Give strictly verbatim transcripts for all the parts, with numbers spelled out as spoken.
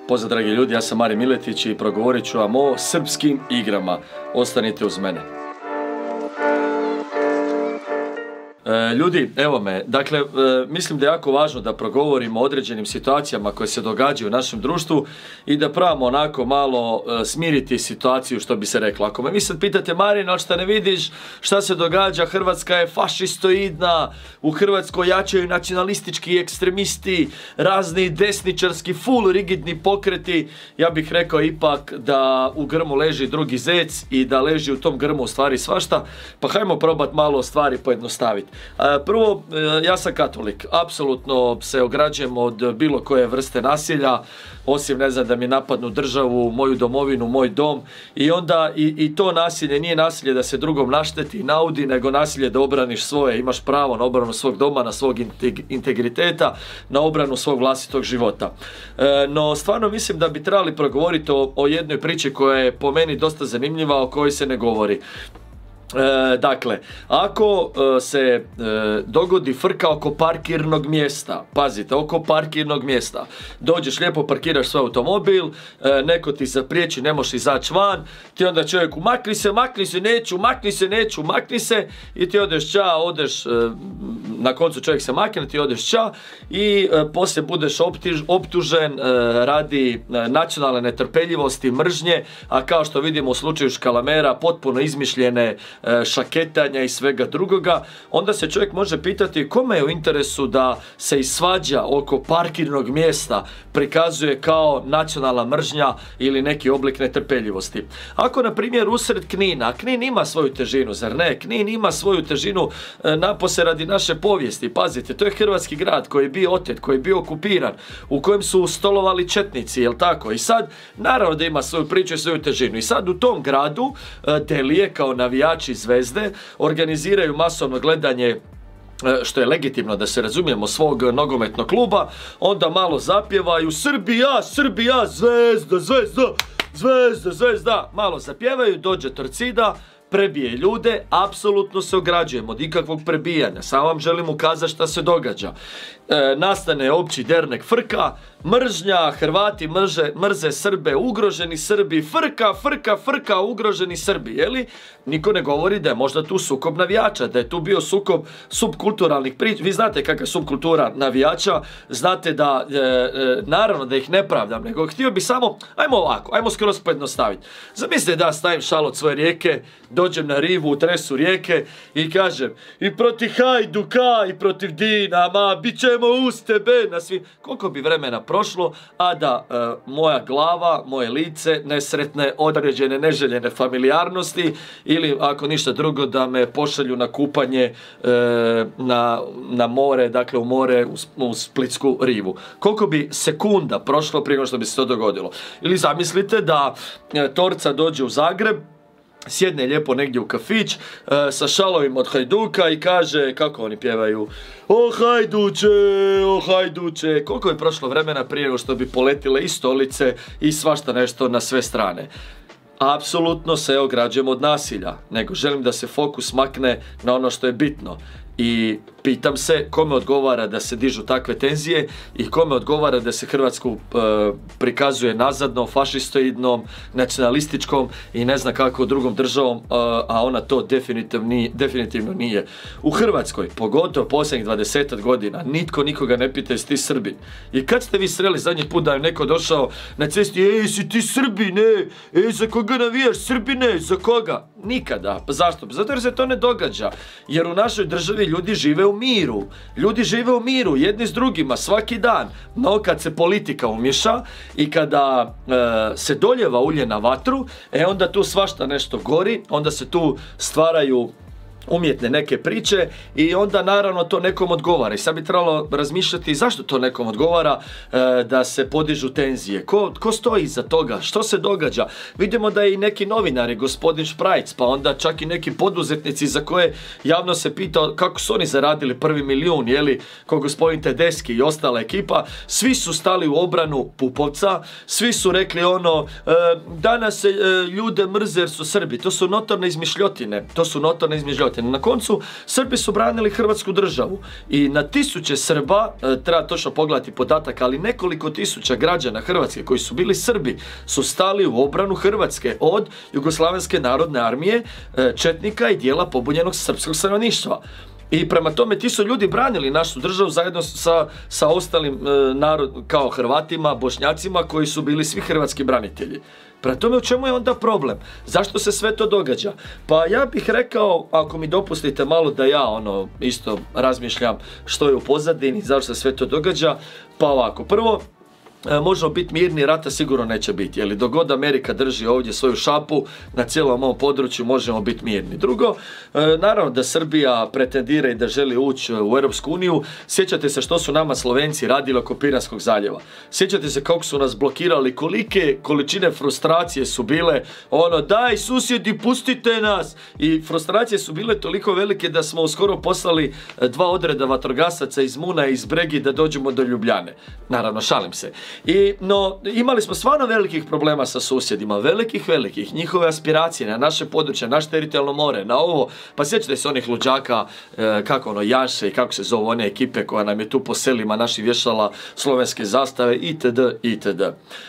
Pozdrav dragi ljudi, ja sam Marin Miletić i progovorit ću vam o srpskim igrama. Ostanite uz mene. E, ljudi, evo me, dakle, e, mislim da je jako važno da progovorimo o određenim situacijama koje se događaju u našem društvu i da probamo onako malo e, smiriti situaciju, što bi se reklo. Ako me vi sad pitate, Marin, ali šta ne vidiš šta se događa, Hrvatska je fašistoidna, u Hrvatskoj jačaju nacionalistički ekstremisti, razni desničarski, full rigidni pokreti, ja bih rekao ipak da u grmu leži drugi zec i da leži u tom grmu u stvari svašta, pa hajmo probati malo stvari pojednostaviti. Prvo, ja sam katolik, apsolutno se ograđujem od bilo koje vrste nasilja, osim, ne znam, da mi napadnu državu, moju domovinu, moj dom, i onda i, i to nasilje nije nasilje da se drugom našteti i naudi, nego nasilje da obraniš svoje, imaš pravo na obranu svog doma, na svog integriteta, na obranu svog vlastitog života. E, no, stvarno mislim da bi trebali progovoriti o, o jednoj priči koja je po meni dosta zanimljiva, o kojoj se ne govori. E, dakle, ako e, se e, dogodi frka oko parkirnog mjesta, pazite, oko parkirnog mjesta, dođeš, lijepo parkiraš svoj automobil, e, neko ti zapriječi, ne možeš izaći van, ti onda čovjeku makni se, makni se, neću, makni se, neću, makni se, i ti odeš ča, odeš, e, na koncu čovjek se makne, ti odeš ča i e, poslije budeš optiž, optužen e, radi e, nacionalne netrpeljivosti, mržnje, a kao što vidimo u slučaju Škalamera, potpuno izmišljene šaketanja i svega drugoga. Onda se čovjek može pitati kome je u interesu da se i svađa oko parkirnog mjesta prikazuje kao nacionalna mržnja ili neki oblik netrpeljivosti. Ako, na primjer, usred Knina, Knin ima svoju težinu, zar ne? Knin ima svoju težinu e, napose radi naše povijesti. Pazite, to je hrvatski grad koji je bio otet, koji je bio okupiran, u kojem su stolovali četnici, jel tako? I sad, naravno da ima svoju priču i svoju težinu. I sad u tom gradu e, Delije, kao navijači Zvezde, organiziraju masovno gledanje, što je legitimno, da se razumijemo, svog nogometnog kluba, onda malo zapjevaju Srbija, Srbija, Zvezda, Zvezda, Zvezda, Zvezda, malo zapjevaju, dođe Torcida, prebije ljude, apsolutno se ograđujem od ikakvog prebijanja, samo vam želim ukazati šta se događa. E, nastane opći dernek frka, mržnja, Hrvati mrže, mrze Srbe, ugroženi Srbi, frka, frka, frka, ugroženi Srbi, jeli? Niko ne govori da je možda tu sukob navijača, da je tu bio sukob subkulturalnih priča. Vi znate kakva je subkultura navijača, znate da, e, e, naravno da ih ne pravdam, nego htio bi samo, ajmo ovako, ajmo skroz pojednostaviti. Zamislite da stavim šal od svoje rijeke, dođem na rivu u tresu rijeke i kažem i protiv Hajduka i protiv Dinama, bit ćemo uz tebe na svim. Koliko bi vremena prošlo, a da e, moja glava, moje lice nesretne, određene, neželjene familijarnosti, ili ako ništa drugo da me pošalju na kupanje e, na, na more, dakle u more, u, u Splitsku rivu. Koliko bi sekunda prošlo prije što bi se to dogodilo. Ili zamislite da e, Torca dođe u Zagreb, sjedne lijepo negdje u kafić e, sa šalovima od Hajduka i kaže, kako oni pjevaju, o Hajduče, o Hajduče. Koliko je prošlo vremena prije nego što bi poletile i stolice i svašta nešto na sve strane. Apsolutno se ograđujem od nasilja, nego želim da se fokus makne na ono što je bitno. I pitam se kome odgovara da se dižu takve tenzije i kome odgovara da se Hrvatsku e, prikazuje nazadno, fašistoidnom, nacionalističkom i ne zna kako drugom državom, e, a ona to definitivno nije, definitivno nije. U Hrvatskoj, pogotovo posljednjih dvadeset godina, nitko nikoga ne pita jesi ti Srbin. I kad ste vi sreli zadnji put da je neko došao na cesti, ej, si ti Srbin, ej, ej, za koga navijaš, Srbine, za koga? Nikada. Pa zašto? Zato jer se to ne događa. Jer u našoj državi ljudi žive u miru. Ljudi žive u miru, jedni s drugima, svaki dan. No, kad se politika umješa i kada e, se doljeva ulje na vatru, e onda tu svašta nešto gori, onda se tu stvaraju umjetne neke priče i onda naravno to nekom odgovara. I sad bi trebalo razmišljati zašto to nekom odgovara, e, da se podižu tenzije. Ko, ko stoji iza toga? Što se događa? Vidimo da i neki novinari, gospodin Šprajc, pa onda čak i neki poduzetnici za koje javno se pita kako su oni zaradili prvi milijun, jeli, ko gospodin Tedeschi i ostala ekipa, svi su stali u obranu Pupovca, svi su rekli ono, e, danas se e, ljude mrze jer su Srbi. To su notorne izmišljotine. To su notorne izmišljotine. podržavate. Na koncu, Srbi su branili Hrvatsku državu i na tisuće Srba, treba točno pogledati podatak, ali nekoliko tisuća građana Hrvatske koji su bili Srbi su stali u obranu Hrvatske od Jugoslavenske narodne armije, četnika i dijela pobunjenog srpskog stanovništva. I prema tome ti su ljudi branili našu državu zajedno sa, sa ostalim e, narod, kao Hrvatima, Bošnjacima koji su bili svi hrvatski branitelji. Prema tome u čemu je onda problem? Zašto se sve to događa? Pa ja bih rekao, ako mi dopustite malo da ja ono isto razmišljam što je u pozadini, zašto se sve to događa, pa ovako, prvo, možemo biti mirni, rata sigurno neće biti, jer dok god Amerika drži ovdje svoju šapu na cijelom ovom području možemo biti mirni. Drugo, naravno da Srbija pretendira i da želi ući u Europsku uniju. Sjećate se što su nama Slovenci radili oko Piranskog zaljeva. Sjećate se kako su nas blokirali, kolike količine frustracije su bile, ono daj susjedi pustite nas, i frustracije su bile toliko velike da smo uskoro poslali dva odreda vatrogasaca iz Muna i iz Bregi da dođemo do Ljubljane. Naravno, šalim se. I, no, imali smo stvarno velikih problema sa susjedima, velikih, velikih, njihove aspiracije na naše područje, naše teritorijalno more, na ovo, pa sjećate se onih luđaka, e, kako ono, Jaše i kako se zove one ekipe koja nam je tu po selima naših vješala slovenske zastave, itd., itd.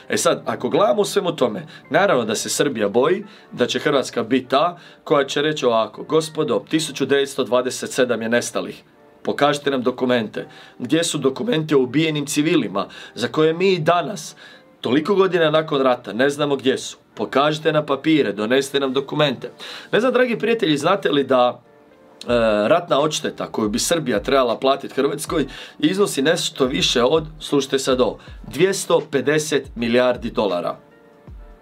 E sad, ako gledamo u svemu tome, naravno da se Srbija boji, da će Hrvatska biti ta koja će reći ovako, gospodo, tisuću devetsto dvadeset sedam je nestalih. Pokažite nam dokumente. Gdje su dokumenti o ubijenim civilima za koje mi i danas, toliko godina nakon rata, ne znamo gdje su. Pokažite nam papire, donesite nam dokumente. Ne znam, dragi prijatelji, znate li da e, ratna odšteta koju bi Srbija trebala platiti Hrvatskoj iznosi nešto više od, slušajte sad ovo, dvjesto pedeset milijardi dolara.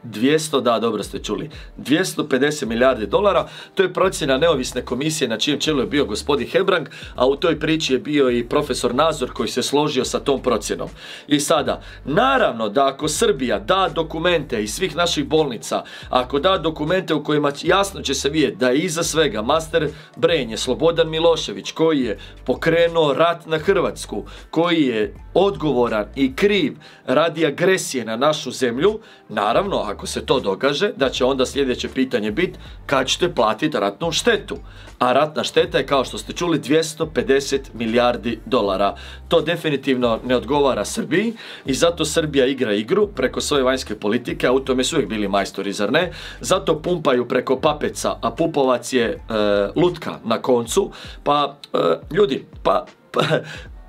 dvjesto, da, dobro ste čuli, dvjesto pedeset milijardi dolara, to je procjena neovisne komisije na čijem čelu je bio gospodin Hebrang, a u toj priči je bio i profesor Nazor koji se složio sa tom procjenom. I sada, naravno da ako Srbija da dokumente iz svih naših bolnica, ako da dokumente u kojima jasno će se vidjeti da je iza svega master brain je Slobodan Milošević koji je pokrenuo rat na Hrvatsku, koji je odgovoran i kriv radi agresije na našu zemlju, naravno, ako se to dogaže, da će onda sljedeće pitanje biti kad ćete platiti ratnu štetu. A ratna šteta je, kao što ste čuli, dvjesto pedeset milijardi dolara. To definitivno ne odgovara Srbiji i zato Srbija igra igru preko svoje vanjske politike, a u tome su uvijek bili majstori, zar ne? Zato pumpaju preko Papeca, a Pupovac je e, lutka na koncu. Pa, e, ljudi, pa... pa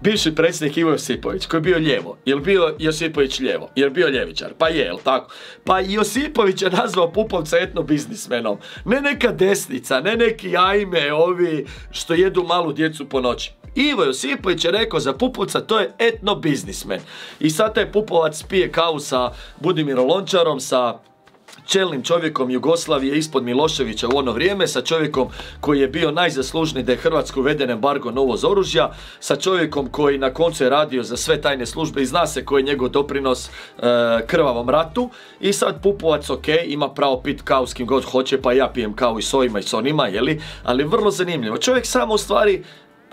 bivši predsjednik Ivo Josipović, koji je bio lijevo. Je li bio Josipović lijevo? Je li bio ljevičar? Pa je, jel tako? Pa Josipović je nazvao Pupovca etnobiznismenom. Ne neka desnica, ne neki ajme ovi što jedu malu djecu po noći. Ivo Josipović je rekao za Pupovca, to je etnobiznismen. I sad taj Pupovac pije kavu sa Budimirom Lončarom, sa čelnim čovjekom Jugoslavije ispod Miloševića u ono vrijeme, sa čovjekom koji je bio najzaslužniji da je Hrvatsko uveden embargo na uvoz oružja, sa čovjekom koji na koncu je radio za sve tajne službe i zna se koji je njegov doprinos e, krvavom ratu. I sad Pupovac, ok, ima pravo pit kavu s kim god hoće, pa ja pijem kavu i s ovima i s onima, jeli? Ali vrlo zanimljivo. Čovjek samo u stvari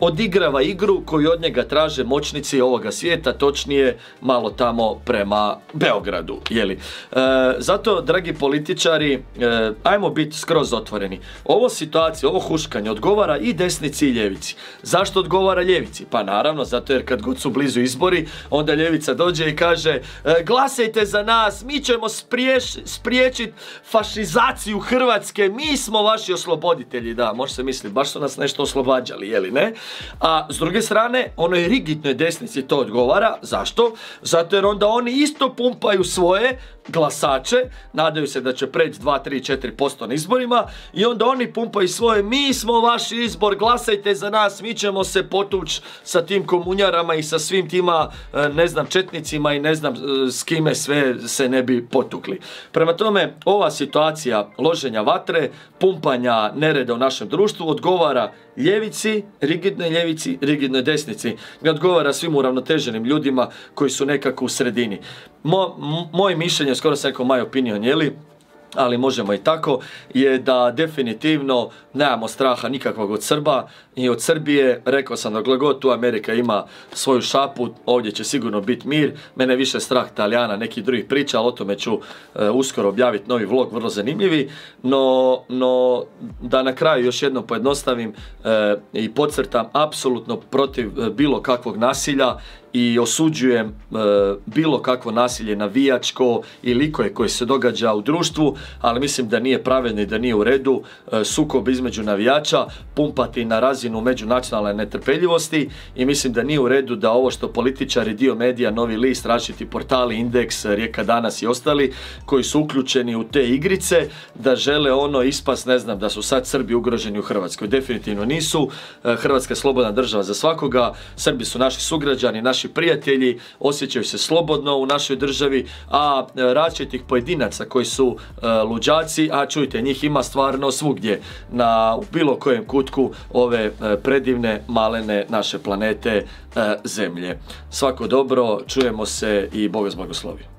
odigrava igru koju od njega traže moćnici ovoga svijeta, točnije malo tamo prema Beogradu, jeli. E, zato, dragi političari, e, ajmo biti skroz otvoreni. Ovo situacija, ovo huškanje odgovara i desnici i ljevici. Zašto odgovara ljevici? Pa naravno, zato jer kad god su blizu izbori, onda ljevica dođe i kaže e, glasajte za nas, mi ćemo spriječiti fašizaciju Hrvatske, mi smo vaši osloboditelji. Da, može se misliti, baš su nas nešto oslobađali, jeli ne? A s druge strane, onoj rigidnoj desnici to odgovara. Zašto? Zato jer onda oni isto pumpaju svoje glasače, nadaju se da će preći dva, tri, četiri posto na izborima i onda oni pumpaju svoje, mi smo vaš izbor, glasajte za nas, mi ćemo se potući sa tim komunjarama i sa svim tima, ne znam, četnicima i ne znam s kime sve se ne bi potukli. Prema tome, ova situacija loženja vatre, pumpanja nereda u našem društvu odgovara ljevici, rigidnoj ljevici, rigidnoj desnici. Ne odgovara svim uravnoteženim ljudima koji su nekako u sredini. Mo, moje mišljenje, skoro sam rekao my opinion, jeli? ali možemo i tako, je da definitivno nemamo straha nikakvog od Srba i od Srbije. Rekao sam, dokle god tu Amerika ima svoju šapu, ovdje će sigurno biti mir. Mene više strah Talijana, nekih drugih priča, ali o tome ću e, uskoro objaviti novi vlog, vrlo zanimljivi. No, no da na kraju još jednom pojednostavim e, i podcrtam, apsolutno protiv e, bilo kakvog nasilja i osuđujem e, bilo kakvo nasilje navijačko ili koje koje se događa u društvu, ali mislim da nije pravedno i da nije u redu e, sukob između navijača pumpati na razinu međunacionalne netrpeljivosti i mislim da nije u redu da ovo što političari, dio medija, Novi list, različiti portali, Indeks, Rijeka danas i ostali koji su uključeni u te igrice, da žele ono ispast, ne znam, da su sad Srbi ugroženi u Hrvatskoj. Definitivno nisu. E, Hrvatska je slobodna država za svakoga, Srbi su naši sugrađani, naši prijatelji, osjećaju se slobodno u našoj državi, a različitih pojedinaca koji su uh, luđaci, a čujte, njih ima stvarno svugdje, na, u bilo kojem kutku ove uh, predivne, malene naše planete uh, Zemlje. Svako dobro, čujemo se i Bog vas blagoslovi.